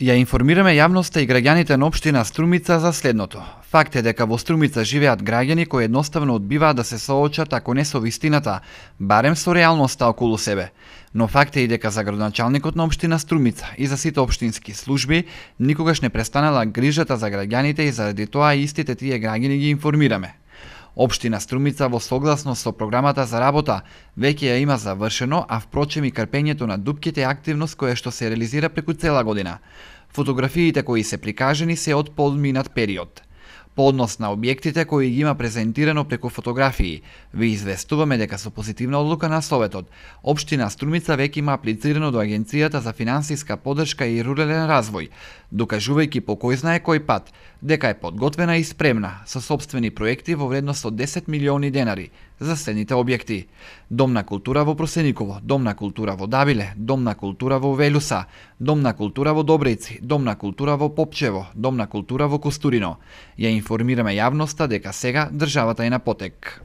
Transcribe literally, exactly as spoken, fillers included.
Ја информираме јавноста и граѓаните на општина Струмица за следното. Факт е дека во Струмица живеат граѓани кои едноставно одбиваат да се соочат, ако не со вистината, барем со реалноста околу себе. Но факт е и дека за градоначалникот на општина Струмица и за сите општински служби никогаш не престанала грижата за граѓаните и заради тоа истите тие граѓани ги информираме. Општина Струмица во согласност со програмата за работа веќе ја има завршено, а впрочем и крпењето на дупките е активност која што се реализира преку цела година. Фотографиите кои се прикажени се од подминат период. По однос на објектите кои ги има презентирано преку фотографии, ви известуваме дека со позитивна одлука на Советот, општина Струмица веќе има аплицирано до Агенцијата за финансиска поддршка и рурален развој, докажувајќи по кој знае кој пат дека е подготвена и спремна со сопствени проекти во вредност од десет милиони денари за следните објекти: Дом на култура во Просениково, Дом на култура во Дабиле, Дом на култура во Велуса, Дом на култура во Добрици, Дом на култура во Попчево, Дом на култура во Костурино. Ја информираме јавноста дека сега државата е на потек.